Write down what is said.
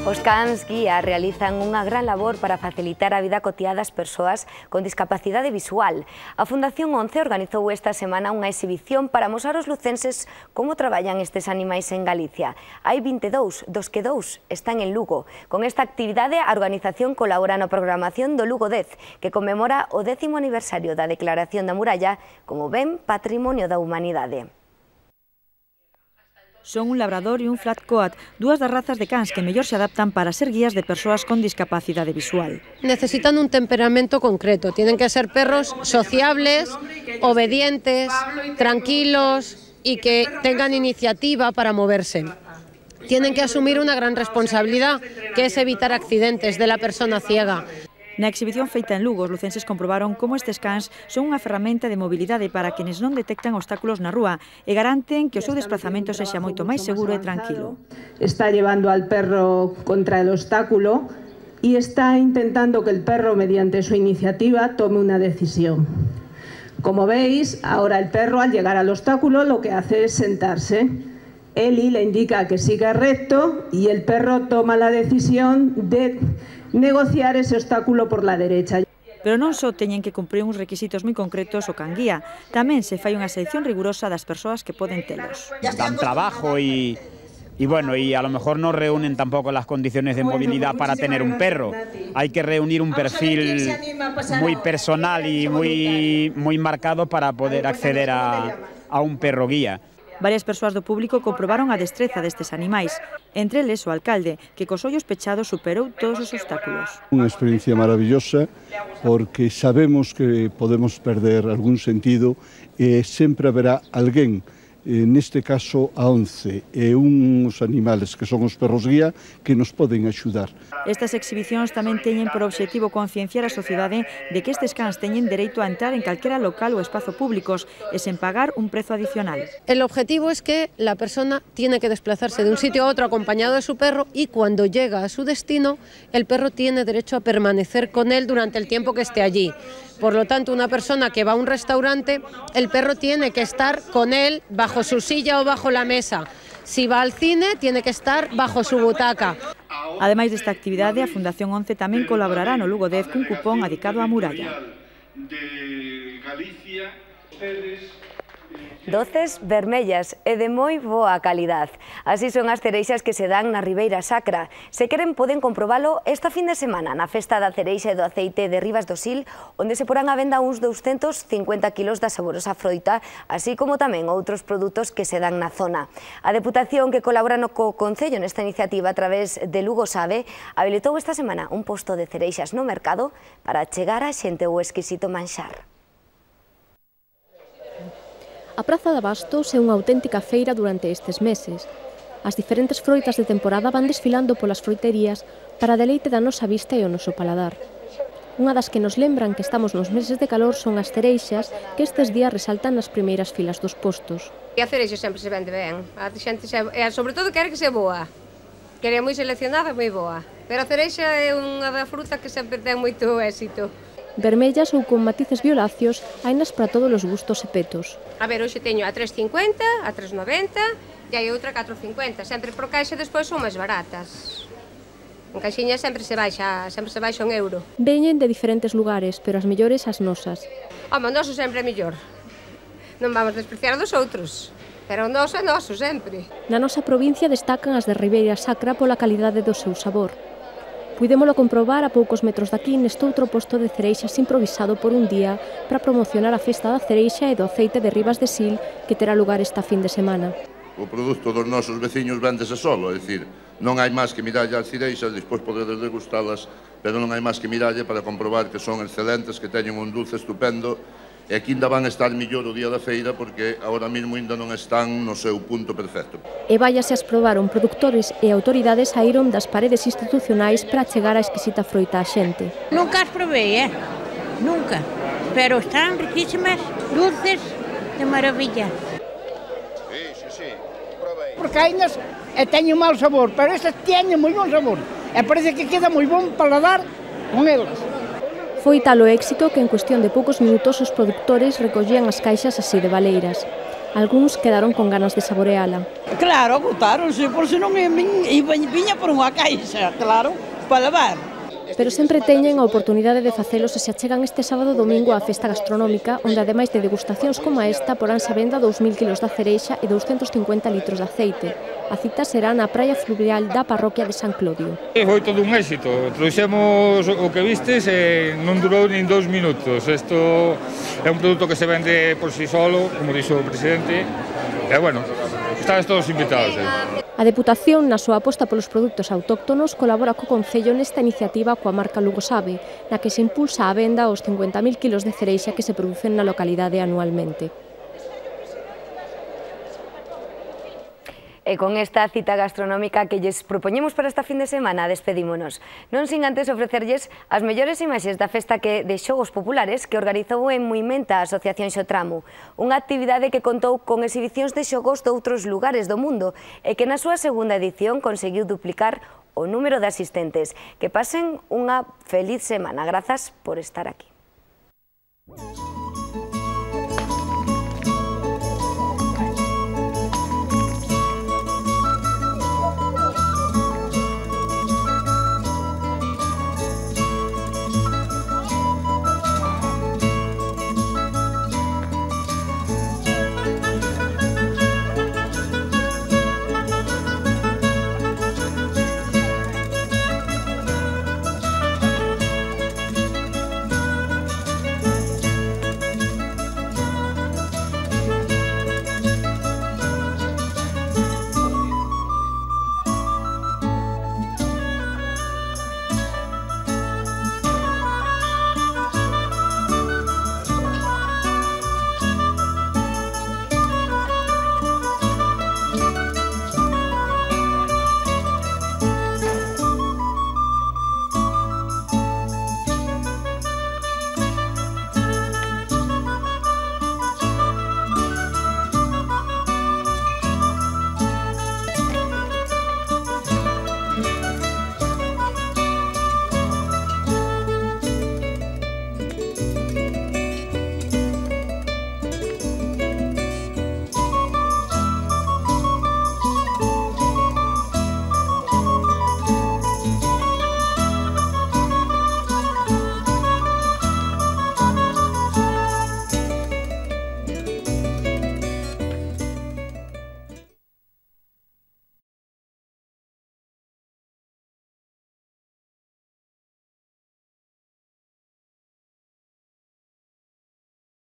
Os cans guía realizan unha gran labor para facilitar a vida cotiá das persoas con discapacidade visual. A Fundación 11 organizou esta semana unha exhibición para mostrar aos lucenses como traballan estes animais en Galicia. Hai 22, dos que 2 están en Lugo. Con esta actividade, a organización colabora na programación do Lugo 10, que conmemora o 10º aniversario da Declaración da Muralla como ben Patrimonio da Humanidade. Son un labrador e un flat coat, dúas das razas de cans que mellor se adaptan para ser guías de persoas con discapacidade visual. Necesitan un temperamento concreto, tienen que ser perros sociables, obedientes, tranquilos y que tengan iniciativa para moverse. Tienen que asumir una gran responsabilidad, que es evitar accidentes de la persona ciega. Na exhibición feita en Lugo, os lucenses comprobaron como estes cans son unha ferramenta de mobilidade para quenes non detectan obstáculos na rúa e garanten que o seu desplazamento sexa moito máis seguro e tranquilo. Está llevando al perro contra el obstáculo y está intentando que el perro, mediante su iniciativa, tome una decisión. Como veis, ahora el perro, al llegar al obstáculo, lo que hace es sentarse. Eli le indica que siga recto y el perro toma la decisión de negociar ese obstáculo por la derecha. Pero non só teñen que cumprir uns requisitos moi concretos o can guía, tamén se fai unha selección rigurosa das persoas que poden telos. Dan trabajo y bueno, y a lo mejor no reúnen tampoco las condiciones de movilidad para tener un perro. Hay que reunir un perfil muy personal y muy marcado para poder acceder a un perro guía. Varias persoas do público comprobaron a destreza destes animais, entre eles o alcalde, que cos ollos pechados superou todos os obstáculos. Unha experiencia maravillosa porque sabemos que podemos perder algún sentido e sempre haberá alguén, neste caso a 11, e uns animales que son os perros guía que nos poden axudar. Estas exhibicións tamén teñen por obxectivo concienciar a sociedade de que estes cans teñen dereito a entrar en calquera local ou espazo públicos e sen pagar un prezo adicional. El objetivo es que la persona tiene que desplazarse de un sitio a otro acompañado de su perro y cuando llega a su destino, el perro tiene derecho a permanecer con él durante el tiempo que esté allí. Por lo tanto, una persona que va a un restaurante, el perro tiene que estar con él bajo su silla o bajo la mesa. Si va al cine, tiene que estar bajo su butaca. Ademais desta actividade, a Fundación 11 tamén colaborará no Lugo 10 cun cupón adicado á muralla. Doces vermellas e de moi boa calidad. Así son as cereixas que se dan na Ribeira Sacra. Se queren, poden comprobalo esta fin de semana na Festa da Cereixa e do Aceite de Ribas do Sil, onde se porán a venda uns 250 kilos da saborosa froita, así como tamén outros produtos que se dan na zona. A Deputación, que colabora co Concello nesta iniciativa a través de Lugo Sabe, habilitou esta semana un posto de cereixas no mercado para chegar a xente o exquisito manxar. A Praza de Abastos é unha auténtica feira durante estes meses. As diferentes froitas de temporada van desfilando polas froiterías para deleite da nosa vista e o noso paladar. Unha das que nos lembran que estamos nos meses de calor son as cereixas, que estes días resaltan nas primeiras filas dos postos. E a cereixa sempre se vende ben, a xente sobre todo quere que se boa, que é moi seleccionada e moi boa. Pero a cereixa é unha da fruta que sempre ten moito éxito. Vermellas ou con matices violáceos, hainas para todos os gustos e petos. A ver, hoxe teño a 3,50, a 3,90 e hai outra a 4,50. Sempre por caixa despois son máis baratas. En caixinha sempre se baixa un euro. Veñen de diferentes lugares, pero as mellores as nosas. Home, o noso sempre é mellor. Non vamos despreciar dos outros, pero o noso é noso sempre. Na nosa provincia destacan as de Ribeira Sacra pola calidade do seu sabor. Puidémolo comprobar a poucos metros daqui nestoutro posto de cereixas improvisado por un día para promocionar a Festa da Cereixa e do Aceite de Ribas de Sil que terá lugar esta fin de semana. O produto dos nosos veciños véndese solo, é dicir, non hai máis que mirarlle as cereixas, despois podedes degustalas, pero non hai máis que mirarlle para comprobar que son excelentes, que teñen un dulce estupendo, e aquí ainda van a estar millor o día da feira porque agora mesmo ainda non están no seu punto perfecto. E váiase as probaron produtores e autoridades saíron das paredes institucionais para chegar a exquisita froita á xente. Nunca as probei, nunca, pero están riquísimas, dulces, de maravilla. Sí, probei. Porque hainas teñen mal sabor, pero estas teñen moi bon sabor. E parece que queda moi bon paladar con elas. Foi tal o éxito que en cuestión de poucos minutos os produtores recollían as caixas así de baleiras. Algúns quedaron con ganas de saboreala. Claro, agotaronse, por se non viña por unha caixa, claro, para levar. Pero sempre teñen a oportunidade de facelo se se achegan este sábado e domingo á festa gastronómica, onde ademais de degustacións como esta, poránse a venda 2.000 kilos de cereixa e 250 litros de aceite. A cita será na praia fluvial da parroquia de San Clodio. Foi todo un éxito. Trouxemos o que vistes e non durou nin 2 minutos. Isto é un produto que se vende por si solo, como dixo o presidente. E, bueno, estades todos invitados. A Deputación, na súa aposta polos produtos autóctonos, colabora co Concello nesta iniciativa coa marca Lugo Sabe, na que se impulsa a venda os 50.000 kilos de cereixa que se producen na localidade anualmente. E con esta cita gastronómica que lles propoñemos para esta fin de semana, despedímonos. Non sin antes ofrecerlles as mellores imaxes da festa de xogos populares que organizou en Muimenta a Asociación Xotramo, unha actividade que contou con exhibicións de xogos de outros lugares do mundo e que na súa segunda edición conseguiu duplicar o número de asistentes. Que pasen unha feliz semana. Grazas por estar aquí.